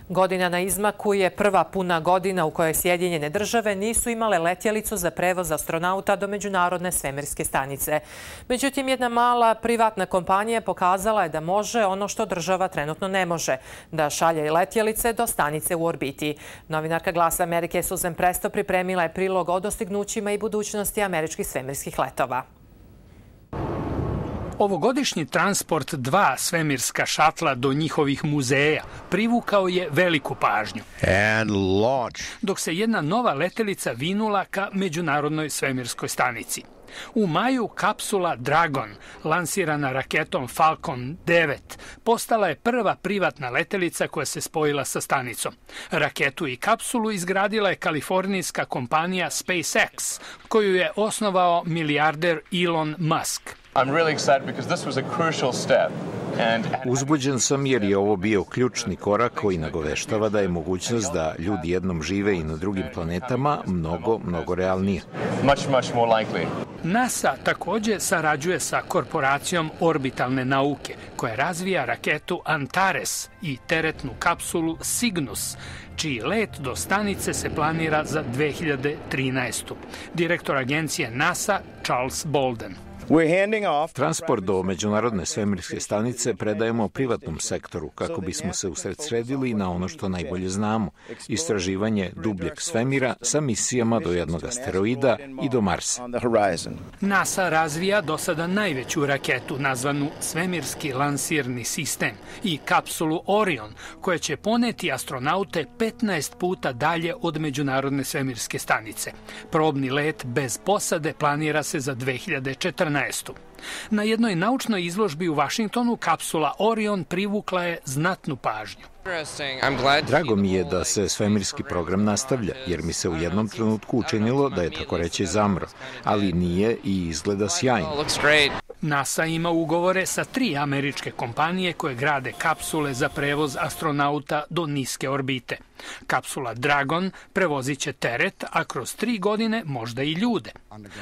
Godina na izmaku je prva puna godina u kojoj Sjedinjene države nisu imale letjelicu za prevoz astronauta do Međunarodne svemirske stanice. Međutim, jedna mala privatna kompanija pokazala je da može ono što država trenutno ne može, da šalje letjelice do stanice u orbiti. Novinarka Glasa Amerike Susan Presto pripremila je prilog o dostignućima i budućnosti američkih svemirskih letova. Ovogodišnji transport 2 svemirska šatla do njihovih muzeja privukao je veliku pažnju. Dok se jedna nova letelica vinula ka Međunarodnoj svemirskoj stanici. U maju kapsula Dragon, lansirana raketom Falcon 9, postala je prva privatna letelica koja se spojila sa stanicom. Raketu i kapsulu izgradila je kalifornijska kompanija SpaceX, koju je osnovao milijarder Elon Musk. Uzbuđen sam jer je ovo bio ključni korak koji nagoveštava da je mogućnost da ljudi jednom žive i na drugim planetama mnogo realnija. NASA također sarađuje sa korporacijom orbitalne nauke koja razvija raketu Antares i teretnu kapsulu Cygnus, čiji let do stanice se planira za 2013. Direktor agencije NASA Charles Bolden. Transport do Međunarodne svemirske stanice predajemo privatnom sektoru kako bismo se usredsredili na ono što najbolje znamo, istraživanje dubljeg svemira sa misijama do jednog asteroida i do Marsa. NASA razvija do sada najveću raketu nazvanu Svemirski lansirni sistem i kapsulu Orion, koja će poneti astronaute 15 puta dalje od Međunarodne svemirske stanice. Probni let bez posade planira se za 2014. Na jednoj naučnoj izložbi u Vašingtonu kapsula Orion privukla je znatnu pažnju. Drago mi je da se svemirski program nastavlja, jer mi se u jednom trenutku učinilo da je tako reći zamro, ali nije i izgleda sjajno. NASA ima ugovore sa 3 američke kompanije koje grade kapsule za prevoz astronauta do niske orbite. Kapsula Dragon prevozit će teret, a kroz 3 godine možda i ljude.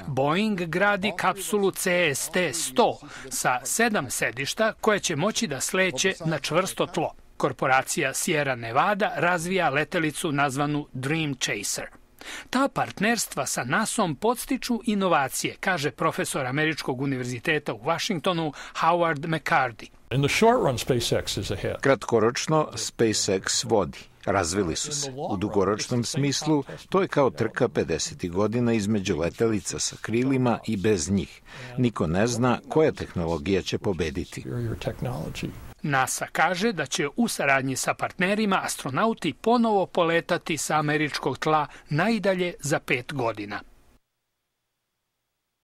Boeing gradi kapsulu CST-100 sa 7 sedišta koje će moći da sleće na čvrsto tlo. Korporacija Sierra Nevada razvija letelicu nazvanu Dream Chaser. Ta partnerstva sa NASA-om podstiču inovacije, kaže profesor Američkog univerziteta u Vašingtonu Howard McCarty. Kratkoročno SpaceX vodi. Razvili su se. U dugoročnom smislu to je kao trka 50. godina između letelica sa krilima i bez njih. Niko ne zna koja tehnologija će pobediti. NASA kaže da će u saradnji sa partnerima astronauti ponovo poletati sa američkog tla najdalje za 5 godina.